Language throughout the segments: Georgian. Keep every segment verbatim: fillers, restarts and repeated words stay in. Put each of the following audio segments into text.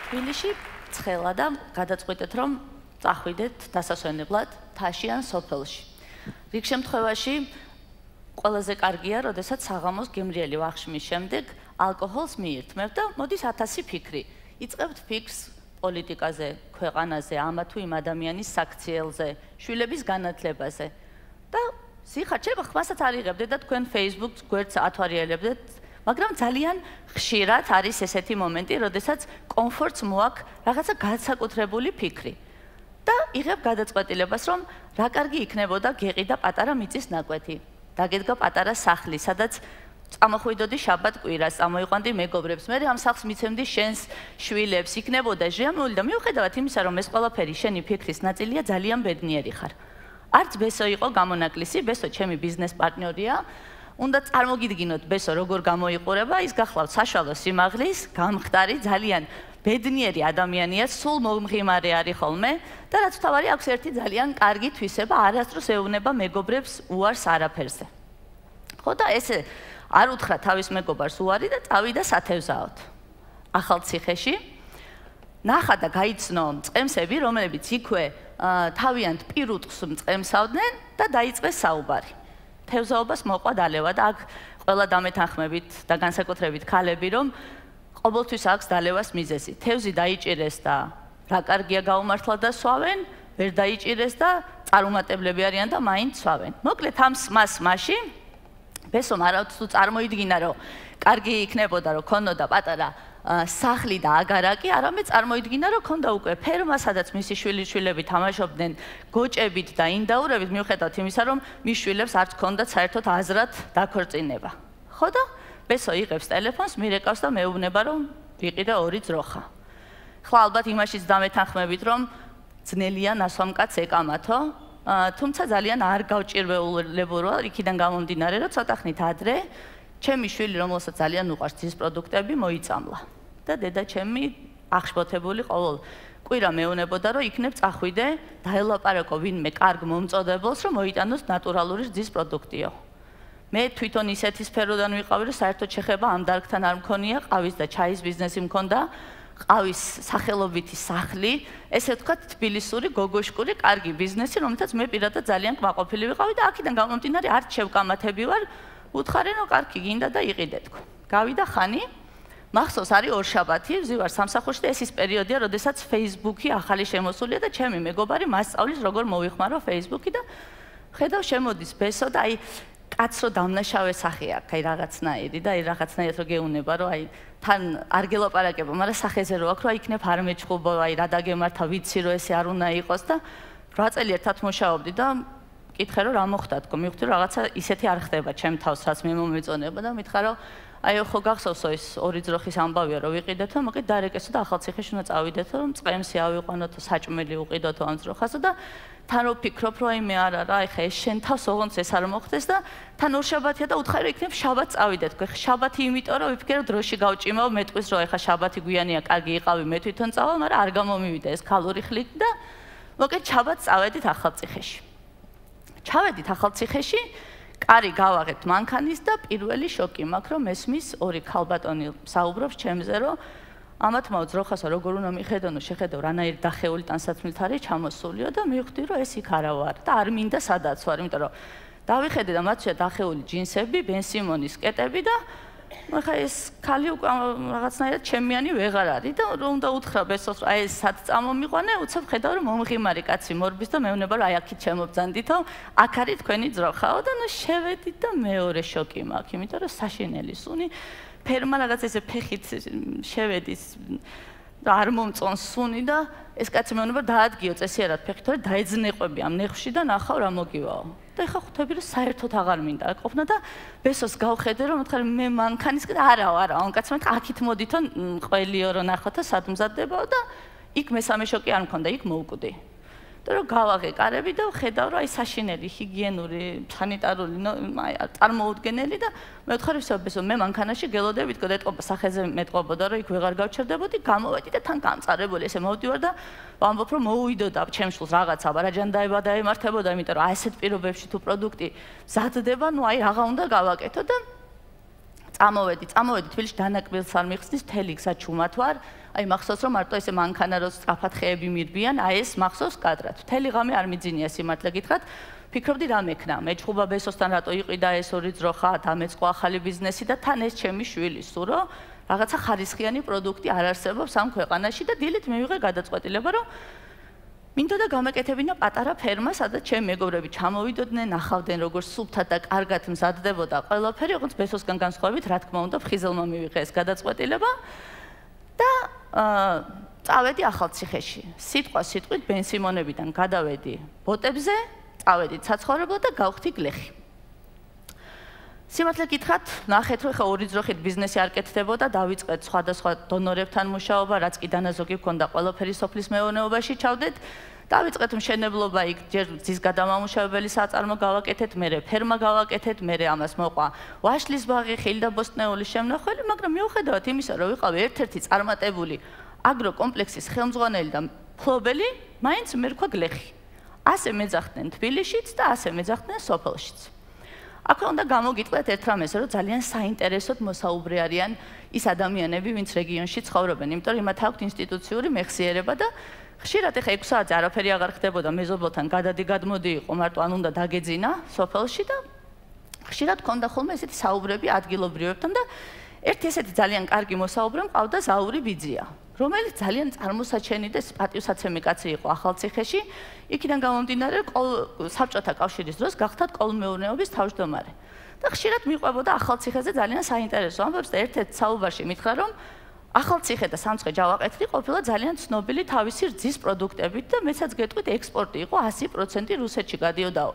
თბილისში ცხელა და გადაწყვეტეთ, რომ წახვიდეთ დასასვენებლად თაში ან სოფელში. რიგ შემთხვევაში ყველაზე კარგია, როდესაც საღამოს გემრიელი ვახშმის შემდეგ ალკოჰოლს მიირთმევთ და მოდის ათასი ფიქრი. იწყებთ ფიქრს პოლიტიკაზე, ქვეყანაზე, ამა თუ იმ ადამიანის საქციელზე, შვილების განათლებაზე. და სიხარ შეიძლება ხმასაც არ იღებდეთ და თქვენ Facebook-ს გვერდს ათვარიელებდეთ, მაგრამ ძალიან ხშირად არის ესეთი მომენტი, როდესაც კომფორტს მოაქვს რაღაცა განსაკუთრებული ფიქრი. და იღებ გადაწყვეტილებას, რომ რა კარგი იქნებოდა გეყიდა პატარა მიწის ნაკვეთი. დაგედგა პატარა სახლი, სადაც წამოხვიდოდი შაბათ კვირას, წამოიყვანდი მეგობრებს, მე ამ სახლს მიცემდი შენს შვილებს, იქნებოდა ჟამული და მიუხედავად იმისა, რომ ეს ყველაფერი შენი ფიქრის ნაწილია, ძალიან ბედნიერი ხარ. არც ბესო იყო გამონაკლისი, ბესო ჩემი ბიზნეს პარტნიორია. უნდა წარმოგიდგინოთ ბესო როგორ გამოიყურება, ის გახლავთ საშუალო სიმაღლის, გამხდარი, ძალიან ბედნიერი ადამიანია, სულ მომღიმარე არის ხოლმე და რაც თავარი აქვს ერთი ძალიან კარგი თვისება, არასდროს ეუბნება მეგობრებს უარს არაფერზე. ხო და ესე არ უთხრა თავის მეგობარს უარი და წავიდა სათევზაოდ. ახალ ციხეში ნახა და გაიცნო მწყემსები, რომლებიც იქვე თავიანთ პირუტყს მწყემსავდნენ და დაიწყეს საუბარი. თევზაობას მოყვა დალევა და აქ ყველა დამეთანხმებით და განსაკუთრებით ქალები, რომ ყოველთვის აქვს დალევას მიზეზი. თევზი დაიჭირეს და რა კარგია გაუმართლა და სვავენ, ვერ დაიჭირეს და წარუმატებლები არიან და მაინც სვავენ. მოკლედ ამ მას მაშინ ბესომ არავთ თუ წარმოიდგინა, რომ კარგი იქნებოდა, რომ ქონოდა პატარა სახლი და აგარაკი, არამედ წარმოიდგინა, რომ ქონდა უკვე ფერმა, სადაც მისი შვილიშვილები თამაშობდნენ გოჭებით და ინდაურებით, მიუხედავად იმისა, რომ მის შვილებს არც ქონდათ საერთოდ აზრად დაქორწინება. ხო და ბესო იღებს ტელეფონს, მირეკავს და მეუბნება, რომ ვიყიდე ორი ძროხა. ხლა ალბათ იმაშიც დამეთანხმებით, რომ ძნელია ნასვამ კაცს ეკამათო, თუმცა ძალიან არ გავჭირვებულა იქიდან გამომდინარე, რომ ცოტა ხნით ადრე ჩემი შვილი, რომელსაც ძალიან უყვარს ძის პროდუქტები, მოიწამლა. და დედა ჩემი აღშფოთებული ყოველ კვირა მეუნებოდა, რომ იქნებ წახვიდე, დაელაპარაკო ვინმე კარგ მომწოდებელს, რომ მოიტანოს ნატურალური ძის პროდუქტიო. მე თვითონ ისეთი სფეროდან ვიყავი, რომ საერთოდ შეხება ამ დარგთან არ მქონია, ყავის და ჩაის ბიზნესი მქონდა, ყავის სახელობითი სახლი, ესე ვთქვათ, თბილისური გოგოშკური კარგი ბიზნესი, რომელთაც მე პირადად ძალიან კმაყოფილი ვიყავი და აქედან გამომდინარე არც შევკამათები ვარ, უთხარი, რომ კარგი გინდა და იყიდე თქო. გავიდა ხანი, მახსოვს არის ორშაბათი, ვზივარ სამსახურში და ეს ის პერიოდია, როდესაც Facebook-ი ახალი შემოსულია და ჩემი მეგობარი მასწავლის როგორ მოვიხმარო Facebook-ი და ხედავ შემოდის ბესო და აი კაცრო დამნაშავე სახე აქვს, აი რაღაცნაირი და აი რაღაცნაირად რო გეუნება, რომ აი თან არ გელაპარაკება, მაგრამ სახეზე რო აქვს, რომ აი იქნებ არ მეჩხუბო, აი რა დაგემართა, ვიცი რომ ესე არ უნდა იყოს და რა წელი ერთად მუშაობდი და მკითხე რომ რა მოხდა თქო, მივხვდი რომ რაღაცა ისეთი არ ხდება ჩემ თავს, რაც მე მომეწონება და მითხრა რომ აი ხო გახსოვსო ის ორი ძროხის ამბავია რომ ვიყიდეთო, მაგრამ დარეკესო და ახალ ციხეში უნდა წავიდეთო, რომ წყემსი ავიყვანოთო, საჭმელი უყიდოთო ამ ძროხასო და თან რო ფიქრობ რომ აი მე არა რა, ეხა ეს შენ თავს ოღონდ ეს არ მოხდეს და თან ორშაბათია და უთხარი რომ იქნებ შაბათს წავიდეთ. ხო, შაბათი იმიტომ რომ ვიფიქრე რომ დროში გავჭიმავ, მეტყვის რომ ეხა შაბათი გვიანია, კარგი იყავი, მე თვითონ წავალ, მაგრამ არ გამომივიდა ეს ქალური ხლით და მოკლედ შაბათს წავედით ახალ ციხეში. ჩავედით ახალ ციხეში, კარი გავაღებთ მანქანის და პირველი შოკი მაქვს, რომ ესმის ორი ქალბატონი საუბრობს ჩემზე, რომ ამათმა ძროხასა როგორ უნდა მიხედონო, შეხედო რანაირ დახეული ტანსაცმლით არის ჩამოსულიო და მივხვდი, რომ ეს იქ არა ვარ და არ მინდა სადაც ვარ, იმიტომ რომ დავიხედე და მათშია დახეული ჯინსები, ბენ სიმონის კეტები და ხა ეს ქალი უკვე რაღაცნაირად ჩემიანი ვეღარ არის და რომ უნდა უთხრა ბესოს, აი ეს სად წამომიყვანე, უცებ ხედავ რომ მომღიმარი კაცი მორბის და მეუბნება რომ აი აქეთ შემობძანდითო, აქ არის თქვენი ძროხაო და ნუ შევედით და მეორე შოკი მაქვს, იმიტომ რომ საშინელი სუნი ფერმა რაღაც ესე ფეხით შევედის და არ მომწონს სუნი და ეს კაცი მეუბნება დაადგიო წესიერად ფეხით, თორე დაეძნეყვები ამ ნეხში და ნახავ რა მოგივაო. და ეხა ხვდები რომ საერთოდ აღარ მინდა ყოფნა და ბესოს გავხედე რომ მოთხარ მე მანქანისკენ არაო არაო ამ კაცმა თქვა აქეთ მოდითო ყველიო რომ ნახოთო სად მზადდებაო და იქ მესამე შოკი არ მქონდა იქ მოვკვდი და რომ გავაღე კარები და ხედავ რომ აი საშინელი ჰიგიენური სანიტარული აი წარმოუდგენელი და მე ვთხარი ვსო ბესო მე მანქანაში გელოდებით თქო დეტყობა სახეზე მეტყობოდა რომ იქ ვეღარ გავჩერდებოდი გამოვედი და თან გამწარებული ესე მოვდივარ და ვამბობ რომ მოუვიდოდა ჩემ შულს რაღაცა ბარაჯანდაება დაემართებოდა იმიტომ რომ აი ესეთ პირობებში თუ პროდუქტი მზადდება ნუ აი რაღა უნდა გავაკეთო და წამოვედი, წამოვედი თბილისში დანაკლებს არ მიხსნის, მთელი გზა ჩუმად ვარ. აი მახსოვს რომ მარტო ესე მანქანა რო სწრაფად ხეები მირბიან, აი ეს მახსოვს კადრად. მთელი ღამე არ მიძინია სიმართლე გითხრათ. ფიქრობდი რა მექნა, მეჭხუბა ბესოსთან რატო იყიდა ეს ორი ძროხა, დამეწყო ახალი ბიზნესი და თან ეს ჩემი შვილი სურო, რაღაცა ხარისხიანი პროდუქტი არ არსებობს ამ ქვეყანაში და დილით მივიღე გადაწყვეტილება, რომ მინდოდა გამეკეთებინა პატარა ფერმა, სადაც ჩემი მეგობრები ჩამოვიდოდნენ, ნახავდნენ როგორ სუფთად და კარგად მზადდებოდა ყველაფერი, როგორც ბესოსგან განსხვავებით, რა თქმა უნდა, ფხიზელმა მივიღე ეს გადაწყვეტილება და წავედი ახალციხეში. სიტყვა სიტყვით ბენსიმონებიდან გადავედი ბოტებზე, წავედი საცხოვრებლად და გავხდი გლეხი. სიმართლე გითხრათ, ნახეთ რომ ხა ორი ძროხით ბიზნესი არ კეთდებოდა, დავიწყეთ სხვადასხვა დონორებთან მუშაობა, რაც კი დანაზოგი ჰქონდა ყველაფერი სოფლის მეურნეობაში ჩავდეთ. დავიწყეთ მშენებლობა, იქ ჯერ ძის გადამამუშავებელი საწარმო გავაკეთეთ, მერე ფერმა გავაკეთეთ, მერე ამას მოყვა ვაშლის ბაღი, ხილდაბოსტნეული შემნახველი, მაგრამ მიუხედავად იმისა, რომ ვიყავი ერთ-ერთი წარმატებული აგროკომპლექსის ხელმძღვანელი და მფლობელი, მაინც მერქვა გლეხი. ასე მეძახდნენ თბილისშიც და ასე მეძახდნენ სოფელშიც. აქვე უნდა გამოგიტყვიათ ერთ რამეს, რომ ძალიან საინტერესოდ მოსაუბრე არიან ის ადამიანები, ვინც რეგიონში ცხოვრობენ, იმიტომ რომ მათ აქვთ ინსტიტუციური მეხსიერება და ხშირად ეხა ექვს საათზე არაფერი აღარ ხდებოდა, მეზობლთან გადადი გადმოდი იყო, მარტო ან უნდა დაგეძინა სოფელში და ხშირად ქონდა ხოლმე ესეთი საუბრები ადგილობრივებთან და ერთი ესეთი ძალიან კარგი მოსაუბრე მყავდა ზაური ბიძია, რომელიც ძალიან წარმოსაჩენი და პატივსაცემი კაცი იყო ახალციხეში. იქიდან გამომდინარე, საბჭოთა კავშირის დროს გახდათ კოლმეურნეობის თავმჯდომარე. და ხშირად მიყვებოდა ახალციხეზე ძალიან საინტერესო ამბებს და ერთ-ერთ საუბარში მითხრა, რომ ახალციხე და სამცხე ჯავაყეთილი ყოფილა ძალიან ცნობილი თავისი რძის პროდუქტებით და მეცაც გეტყვით ექსპორტი იყო ასი პროცენტი რუსეთში გადიოდაო.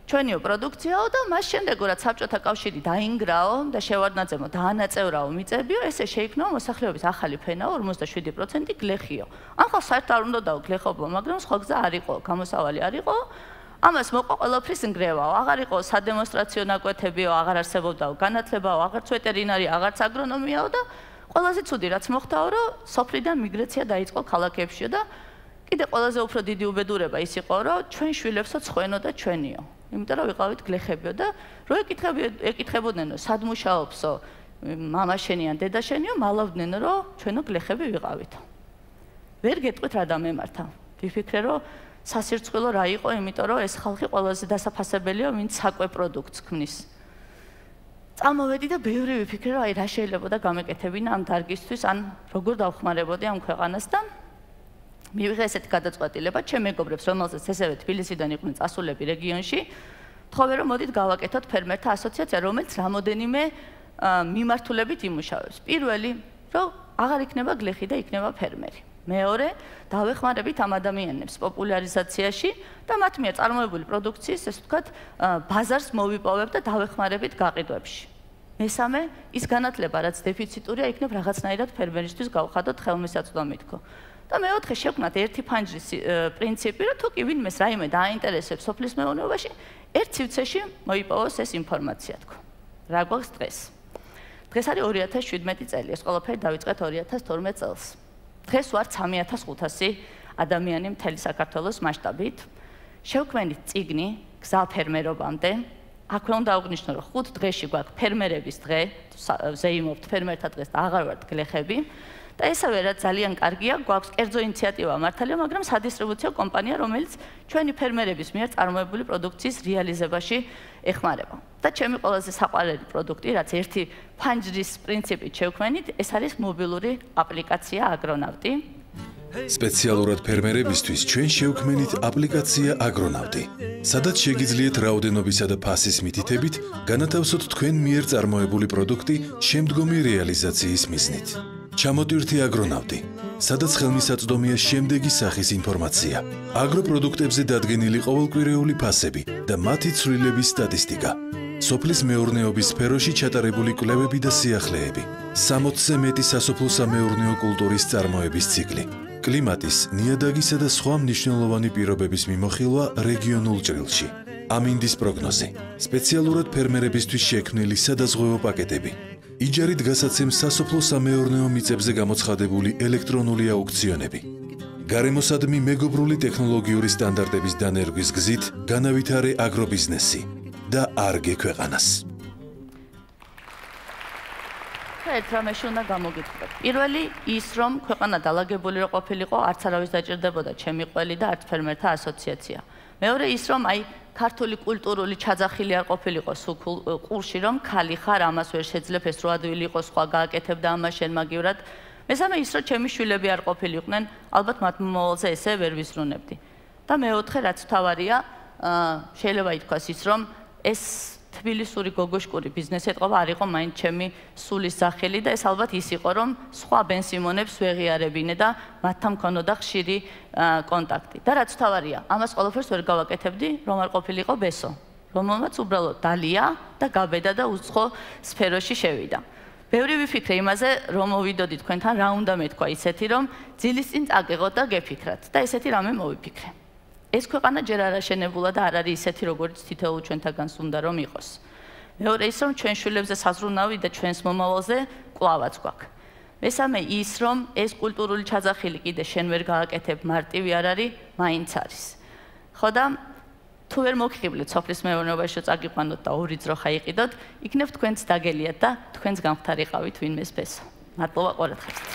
ჩვენიო პროდუქციაო და მას შემდეგ რაც საბჭოთა კავშირი დაინგრაო და შევარდნაძემო დაანაწევრაო მიწებიო, ესე შეიქმნა მოსახლეობის ახალი ფენაო ორმოცდაშვიდი პროცენტი გლეხიო. ამ ხალხს საერთოდ არ უნდაო გლეხობა, მაგრამ სხვა გზა არ იყო, გამოსავალი არ იყო. ამას მოყვა ყველაფრის ნგრევაო, აღარ იყო სადემონსტრაციო ნაკვეთებიო, აღარ არსებობდაო განათლებაო, აღარც ვეტერინარი, აღარც აგრონომიაო და ყველაზე ცუდი რაც მოხდაო, რომ სოფლიდან მიგრაცია დაიწყო ქალაქებშიო და კიდე ყველაზე უფრო დიდი უბედურება ის იყო, რომ ჩვენ შვილებსო ცხენო და ჩვენიო. იმიტომ რომ ვიყავით გლეხებიო და რო ეკითხებოდნენ, სად მუშაობსო, მამა შენი ან დედა შენიო, მალავდნენ, რომ ჩვენო გლეხები ვიყავითო. ვერ გეტყვით რა დამემართა. ვიფიქრე, რომ სასირწყვილო რა იყო, იმიტომ რომ ეს ხალხი ყველაზე დასაფასებელია, ვინც საკვე პროდუქტს ქმნის. წამოვედი და ბევრი ვიფიქრე, რომ აი რა შეიძლება და გამეკეთებინა ამ დარგისთვის, ან როგორ დავხმარებოდი ამ ქვეყანას და მივიღე ესეთი გადაწყვეტილება ჩემ მეგობრებს, რომელზეც ესევე თბილისიდან იყვნენ წასულები რეგიონში, თხოვე რომ მოდით გავაკეთოთ ფერმერთა ასოციაცია, რომელიც რამოდენიმე მიმართულებით იმუშავებს. პირველი, რომ აღარ იქნება გლეხი და იქნება ფერმერი. მეორე, დავეხმარებით ამ ადამიანებს პოპულარიზაციაში და მათ მიერ წარმოებული პროდუქციის, ესე ვთქვათ, ბაზარს მოვიპოვებ და დავეხმარებით გაყიდვებში. მესამე, ის განათლება, რაც დეფიციტურია, იქნებ რაღაცნაირად ფერმერისთვის გავხადოთ ხელმისაწვდომითქო. და მეოთხე შევქმნათ ერთი ფანჯრის პრინციპი, რომ თუ კი ვინმეს რაიმე დააინტერესებს სოფლის მეურნეობაში, ერთ სივრცეში მოიპოვოს ეს ინფორმაცია თქო. რა გვაქვს დღეს? დღეს არის ორი ათას შვიდმეტი წელი, ეს ყველაფერი დავიწყეთ ორი ათას თორმეტ წელს. დღეს ვართ სამი ათას ხუთასი ადამიანი მთელი საქართველოს მასშტაბით. შევქმნით წიგნი გზა ფერმერობამდე. აქვე უნდა აღვნიშნო, რომ ხუთ დღეში გვაქვს ფერმერების დღე, ზეიმობთ ფერმერთა დღეს და აღარ ვართ გლეხები. და ესევე რაც ძალიან კარგია, გვაქვს კერძო ინიციატივა მართალია, მაგრამ სადისტრიბუციო კომპანია, რომელიც ჩვენი ფერმერების მიერ წარმოებული პროდუქციის რეალიზებაში ეხმარება. და ჩემი ყველაზე საყვარელი პროდუქტი, რაც ერთი ფანჯრის პრინციპით შევქმნით, ეს არის მობილური აპლიკაცია აგრონავტი. სპეციალურად ფერმერებისთვის ჩვენ შევქმნით აპლიკაცია აგრონავტი, სადაც შეგიძლიათ რაოდენობისა და ფასის მითითებით განათავსოთ თქვენ მიერ წარმოებული პროდუქტი შემდგომი რეალიზაციის მიზნით. ჩამოტვირთი აგრონავტი, სადაც ხელმისაწვდომია შემდეგი სახის ინფორმაცია: აგროპროდუქტებზე დადგენილი ყოველკვირეული ფასები და მათი ცვლილების სტატისტიკა, სოფლის მეურნეობის სფეროში ჩატარებული კვლევები და სიახლეები, სამოცზე მეტი სასოფლო-სამეურნეო კულტურის წარმოების ციკლი, კლიმატის, ნიადაგისა და სხვა მნიშვნელოვანი პირობების მიმოხილვა რეგიონულ ჭრილში, ამინდის პროგნოზი, სპეციალურად ფერმერებისთვის შექმნილი სადაზღვევო პაკეტები, იჯარით გასაცემ სასოფლო-სამეურნეო მიწებზე გამოცხადებული ელექტრონული აუქციონები. გარემოსადმი მეგობრული ტექნოლოგიური სტანდარტების დანერგვის გზით განავითარე აგრობიზნესი და არგე ქვეყანას. ერთ რამეში უნდა გამოგიტყდეთ. პირველი ის, რომ ქვეყანა დალაგებული რო ყოფილიყო, არც არავის დაჭირდებოდა ჩემი ყველი და არც ფერმერთა ასოციაცია. მეორე ის, რომ აი ქართული კულტურული ჩაძახილი არ ყოფილიყო სულ ყურში, რომ ხალი ხარ, ამას ვერ შეძლებ, ეს რო ადვილი იყო, სხვა გააკეთებდა ამას შენ მაგივრად. მესამე ის, რომ ჩემი შვილები არ ყოფილიყვნენ, ალბათ მათ მომავალზე ესე ვერ ვიზრუნებდი. და მეოთხე, რაც თავარია, შეიძლება ითქვას ის, რომ ეს თბილისური გოგოშკური ბიზნესი ეთყობა არ იყო მაინც ჩემი სულის სახელი და ეს ალბათ ის იყო, რომ სხვა ბენსიმონებს ვეღიარებინე და მათთან მქონოდა ხშირი კონტაქტი. და რაც თავარია, ამას ყველაფერს ვერ გავაკეთებდი, რომ არ ყოფილიყო ბესო, რომელმაც უბრალოდ დალია და გაბედა და უცხო სფეროში შევიდა. ბევრი ვიფიქრე იმაზე, რომ მოვიდოდი თქვენთან, რა უნდა მეთქვა ისეთი, რომ ძილის წინ წაგეღოთ და გეფიქრათ და ესეთი რამე მოვიფიქრე. ეს ქვეყანა ჯერ არ აშენებულა და არ არის ისეთი, როგორც თითოეულ ჩვენთაგანს უნდა რომ იყოს. მეორე ის, რომ ჩვენ შვილებზე საზრუნავი და ჩვენს მომავალზე კვლავაც გვაქვს. მესამე ის, რომ ეს კულტურული ჩაძახილი კიდე შენ ვერ გააკეთებ, მარტივი არ არის, მაინც არის. ხო და თუ ვერ მოგხიბლეთ სოფლის მეურნეობაში წაგიყვანოთ და ორი ძროხა იყიდოთ, იქნებ თქვენც დაგელიათ და თქვენც გამხდარიყავით ვინმეს ბესო. მადლობა ყურადღებისთვის.